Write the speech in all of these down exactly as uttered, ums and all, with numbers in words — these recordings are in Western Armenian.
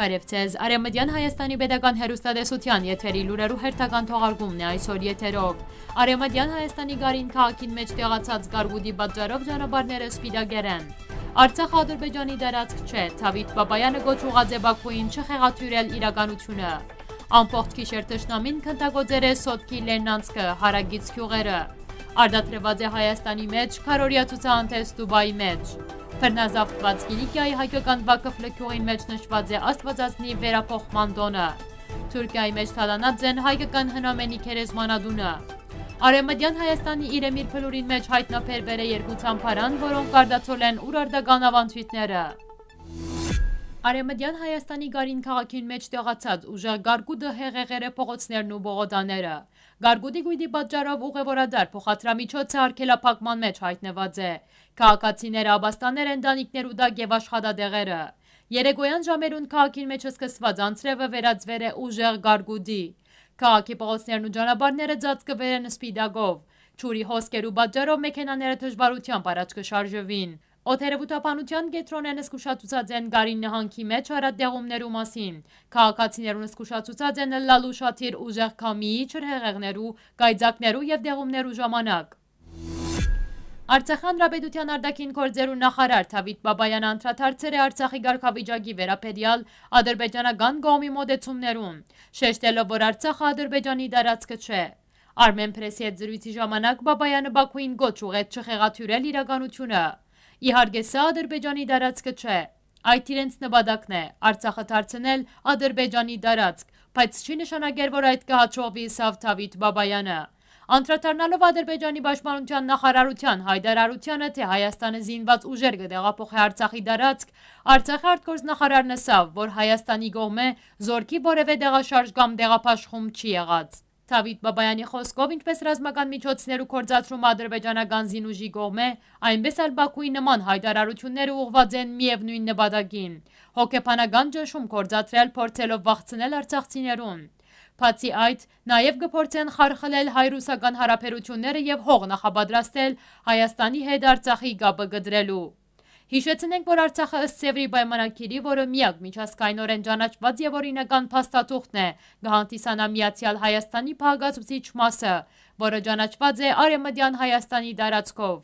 Բարեւ ձեզ։ Արեւմտեան Հայաստանի Պետական Հեռուստատեսութեան եթերի լուրերու հերթական թողարկումն է այսօր եթերով։ Արեւմտեան Հայաստանի Գարին քաղաքին մէջ տեղացած կարկուտի պատճառով ճանապարհները սպիտակեր են։ Արցախը Ադրբեջանի տարածք չէ, Դավիթ Բաբայանը կոչ ուղղած է Բաքուին չխեղաթիւրել իրականությունը։ Ամբողջ գիշեր թշնամին քննագործեր է Սոտքի լեռնանցքը, հարակից գիւղերը։ Արտադրուած է Հայաստանի մէջ, քարորիա ցուցահանդէս Դուբայի մէջ։ Բռնազավթուած Կիլիկիայի հայկական Վակֆլը գիւղին մէջ նշուած է Աստուածածնի վերափոխման տօնը։ Թուրքիայի մէջ թալանած են հայկական հնամենի գերեզմանատունը։ Արեւմտեան Հայաստանի իրեմիր փլուրին մէջ յայտնաբերուեր է երկու ծամբարան, որոնք կարտացոլեն ուրարտական աւանդոյթները։ Արեւմտեան Հայաստանի Գարին քաղաքին մէջ տեղացած ուժեղ կարկուտը հեղեղեր է փողոցներն ու պողոտաները։ Կարկուտի կոյտի պատճառով ուղեւորատար փոխադրամիջոցը արգելափակման մէջ յայտնուած է։ Քաղաքացիները ապաստանել են տանիքներու տակ եւ աշխատատեղերը։ Երեկոյան ժամերուն քաղաքին մէջ սկսուած անձրեւը վերածուեր է ուժեղ կարկուտի։ Քաղաքի փողոցներն ու ճանապարհները ծածկուեր են սպիտակով։ Ջուրի հոսքերու պատճառով մեքենաները դժուարութեամբ առաջ կը շարժուին։ Օդերեւութաբանութեան կեդրոնէն զգուշացուցած են Գարին նահանգի մէջ առատտեղումներու մասին։ Քաղաքացիներուն զգուշացուցած են ըլլալ ուշադիր ուժեղ քամիի, ջրհեղեղներու, կայծակներու եւ դեղումներու ժամանակ։ Արցախի Հանրապետութեան արտաքին գործերու նախարար Դավիթ Բաբաեան անդրադարձեր է Արցախի կարգավիճակի վերաբերեալ ադրբեջանական կողմի մօտեցումներուն, շեշտելով, որ Արցախը Ադրբեջանի տարածքը չէ։ Արմէնփրեսի հետ զրոյցի ժամանակ Բաբայանը Բաքուին կոչ ուղղեց չխեղաթիւրել իրականությունը։ Իհարկե, սա Ադրբեջանի տարածքը չէ։ Այդ իրենց նպատակն է, Արցախը դարձնել Ադրբեջանի տարածք, բայց չի նշանակեր, որ այդ կը հաջողուի, ըսաւ Դավիթ Բաբայանը։ Անդրադառնալով Ադրբեջանի պաշտպանութեան նախարարութեան յայտարարությանը, թէ Հայաստանը զինուած ուժեր կը տեղափոխէ Արցախի տարածք, Արցախի արտգործնախարարն ըսաւ, որ Հայաստանի կողմէ զորքի որեւէ տեղաշարժ կամ տեղաբաշխում չի եղած։ Դավիթ Բաբայանի խօսքով, ինչպէս ռազմական միջոցներու գործադրումը ադրբեջանական զինուժի կողմէ, այնպէս ալ Բաքուի նման յայտարարութիւնները ուղղուած են միեւնոյն նպատակին՝ հոգեբանական ճնշում գործադրել, փորձելով վախցնել արցախցիներուն։ Բացի այդ, նաեւ կը փորձեն խարխլել հայ-ռուսական յարաբերութիւնները եւ հող նախապատրաստել Հայաստանի հետ Արցախի կապը կտրելու։ Յիշեցնենք, որ Արցախը ըստ Սեւրի պայմանագիրի, որը միակ միջազգայինօրէն ճանաչուած եւ օրինական փաստաթուղթն է, կը հանդիսանայ Միացեալ Հայաստանի բաղկացուցիչ մասը, որը ճանաչուած է Արեւմտեան Հայաստանի տարածքով։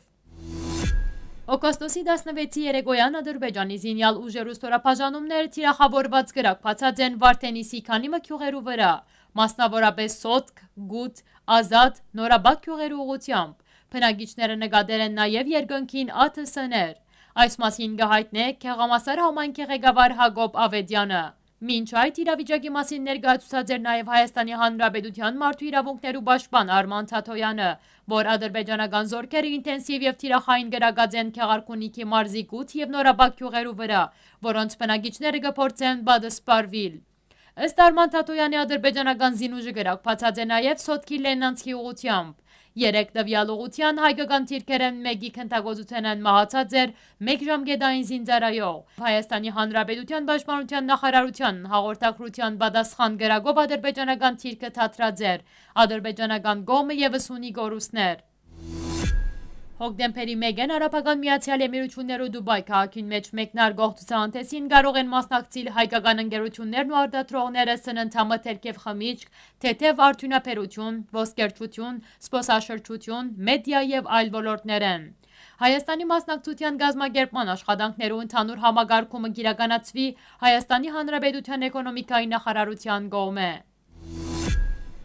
Օգոստոսի տասնվեցի երեկոյան Ադրբեջանի զինեալ ուժերու ստորաբաժանումները թիրախաւորուած կրակ բացած են Վարդենիսի քանի մը գիւղերու վրայ, մասնաւորապէս Սոտք, Գութ, Ազատ, Նորաբակ գիւղերու ուղղութեամբ։ Բնակիչները նկատել են նաեւ երկնքին աթսներ։ Այս մասին կը յայտնէ Գեղամասար համայնքի ղեկավար Յակոբ Ավետյանը։ Մինչ այդ իրավիճակի մասին ներկայացուցած էր նաեւ Հայաստանի Հանրապետութեան մարդու իրաւունքներու պաշտպան Արման Թաթոյանը, որ ադրբեջանական զորքերը ինտենսիվ եւ թիրախային կրակած են Քեղարքունիքի մարզի Գութ եւ Նորաբակ գիւղերու վրայ, որոնց բնակիչները կը փորձեն պատսպարուիլ։ Ըստ Արման Թաթոյանի, ադրբեջանական զինուժը կրակ բացած է նաեւ Սոտքի Լենանցքի ուղղութեամբ։ Երեկ տուեալ ուղղութեան հայկական թիրքերէն մէկի քննագործութենէն մահացած էր մեկ ժամկետային զինծառայող։ Հայաստանի Հանրապետութեան պաշտպանութեան նախարարութեան հաղորդագրութեան պատասխան կրակով ադրբեջանական թիրքը թատրած էր։ Ադրբեջանական կողմը եւս ունի կորուստներ։ Հոկտեմբերի մէկին Արաբական Միացեալ Էմիրութիւններու Դուբայ քաղաքին մէջ մեկնարկող ցուցահանդէսին կարող են մասնակցիլ հայկական ընկերութիւններն ու արտադրողները սննդամթերք եւ խմիչք, թեթեւ արդիւնաբերութիւն, ոսկերչութիւն, զբօսաշրջութիւն, մեդիա եւ այլ ոլորտներէն։ Հայաստանի մասնակցութեան կազմակերպման աշխատանքներու ընդհանուր համակարգումը կիրականացուի Հայաստանի Հանրապետութեան էկոնոմիկայի նախարարութեան կողմէ։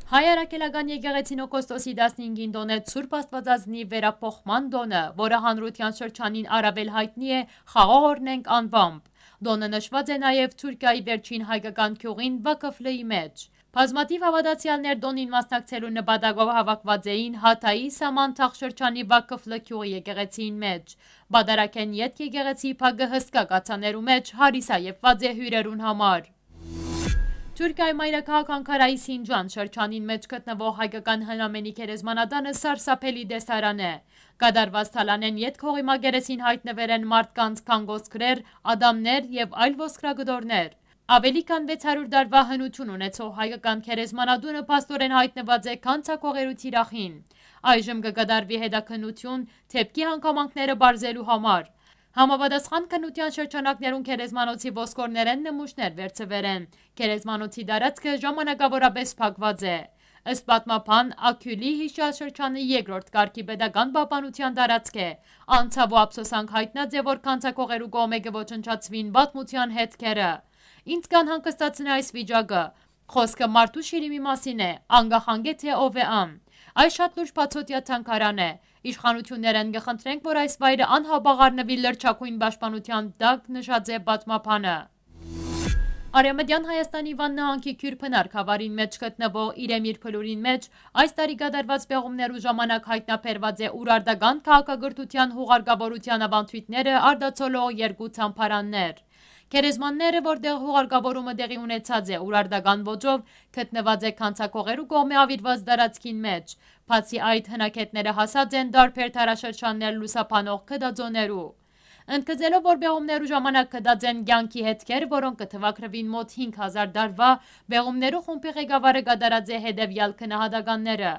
Հայ Առաքելական Եկեղեցին օգոստոսի տասնհինգին տօնեց Սուրբ Աստուածածնի վերափոխման տօնը, որը հանրութեան շրջանին առավել յայտնի է Խաղաղ օրհնենք անուամբ։ Տօնը նշուած է նաեւ Թուրքիայի վերջին հայկական գիւղին Վակֆլիի մէջ։ Բազմաթիւ հաւատացեալներ տօնին մասնակցելու նպատակով հաւաքուած էին Հաթայի Սամանթախ շրջանի Վակֆլը գիւղի եկեղեցին մէջ։ Պատարագէն ետք եկեղեցի փակը հսկայ կաթսաներու մէջ հարիսայեւուած է հիւրերուն համար։ Թուրքիայի մայրաքաղաք Անկարայի Սինջան շրջանին մէջ գտնուող հայկական հնամենի գերեզմանատանը սարսափելի տեսարան է։ Կատարուած թալանէն ետք հողի մակերեսին յայտնուեր են մարդկանց կանգոսկրեր, ատամներ եւ այլ ոսկրակտորներ։ Աւելի քան վեց հարիւր տարուայ հնութիւն ունեցող հայկական գերեզմանատունը փաստօրէն յայտնուած է գանձակողերու թիրախին։ Այժմ կը կատարուի հետաքննութիւն դէպքի հանգամանքները պարզելու համար։ Համապատասխան քննութեան շրջանակներուն գերեզմանոցի ոսկորներէն նմուշներ վերցուեր են։ Գերեզմանոցի տարածքը ժամանակաւորապէս փակուած է։ Ըստ պատմաբան Աքիլի, յիշյալ շրջանը երկրորդ կարգի պետական պահպանութեան տարածք է։ Անցաւու ափսոսանք յայտնած է, որ գանձակողերու կողմէ կը ոչնչացուին պատմութեան հետքերը։ Ինձ կ'անհանգստացնէ այս վիճակը։ Խոսքը մարդու շիրիմի մասին է, անկախ անկէ թէ ով է ան։ Այս շատ լուրջ բացօթեայ թանգարան է։ Իշխանութիւններէն կը խնդրենք, որ այս վայրը անհապաղ առնուի լրջագոյն պաշտպանութեան տակ, նշած է պատմաբանը։ Արեւմտեան Հայաստանի Վան նահանգի Քիւր Փնար գաւառին մէջ գտնուող Իրեմիր փլուրին մէջ այս տարի կատարուած պեղումներու ժամանակ յայտնաբերուած է ուրարտական քաղաքակրթութեան յուղարկաւորութեան աւանդոյթները արտացոլող երկու թամբարաններ։ Գերեզմանները, որտեղ յուղարկաւորումը տեղի ունեցած է ուրարտական ոճով, գտնուած է գանձակողերու կողմէ աւիրուած տարածքին մէջ։ Բացի այդ, հնագետները հասած են տարբեր դարաշրջաններ լուսաբանող գտածոներու։ Ընդգծելով, որ պեղումներու ժամանակ գտած են կեանքի հետքեր, որոնք կը թուակրուին մօտ հինգ հազար տարուայ, պեղումներու խումբի ղեկավարը կատարած է հետեւեալ գնահատականները։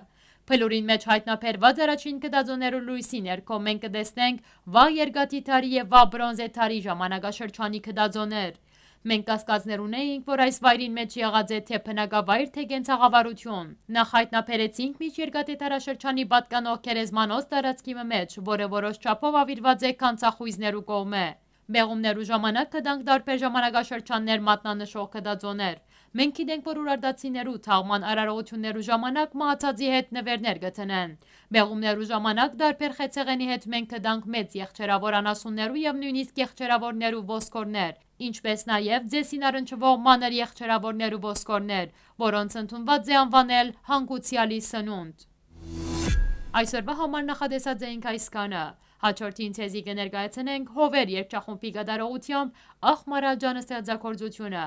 Փլուրին մէջ յայտնաբերուած առաջին գտածոներու լոյսի ներքո մենք կը տեսնենք վաղ երկաթի դարի եւ վաղ բրոնզե դարի ժամանակաշրջանի գտածոներ։ Մենք կասկածներ ունէինք, որ այս վայրին մէջ եղած է թէ բնակավայր, թէ կենցաղավարութիւն։ Նախ յայտնաբերեցինք միջերկրատէ դարաշրջանի պատկանող գերեզմանոց տարածքի մը մէջ, որը որոշ չափով աւիրուած է գանձախոյզներու կողմէ։ Պեղումներու ժամանակ գտանք տարբեր ժամանակաշրջաններ մատնանշող գտածոներ։ Մենք գիտենք, որ ուրարտացիներու թաղման արարողութիւններու ժամանակ մահացածի հետ նուէրներ կը դնեն։ Պեղումներու ժամանակ տարբեր խեցեղէնի հետ մենք գտանք մեծ եղջերաւոր անասուններու եւ նոյնիսկ եղջերաւորներու ոսկորներ, ինչպէս նաեւ ձեսին առնչուող մանր եղջերաւորներու ոսկորներ, որոնց ընդունուած է անուանել հանգուցեալի սնունդ։ Այսօրվա համար նախատեսած էինք այսքանը։ Հաջորդին ձեզի կը ներկայացնենք Հովեր երգչախումբի կատարողութեամբ Ախ Մարալջան ստեղծագործութիւնը։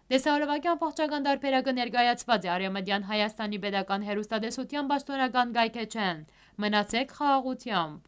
Տեսահոլովակի ամբողջական տարբերակը ներկայացված է Արեւմտեան Հայաստանի Պետական Հեռուստատեսութեան պաշտօնական կայքէջէն։ Մնացեք խաղաղութեամբ։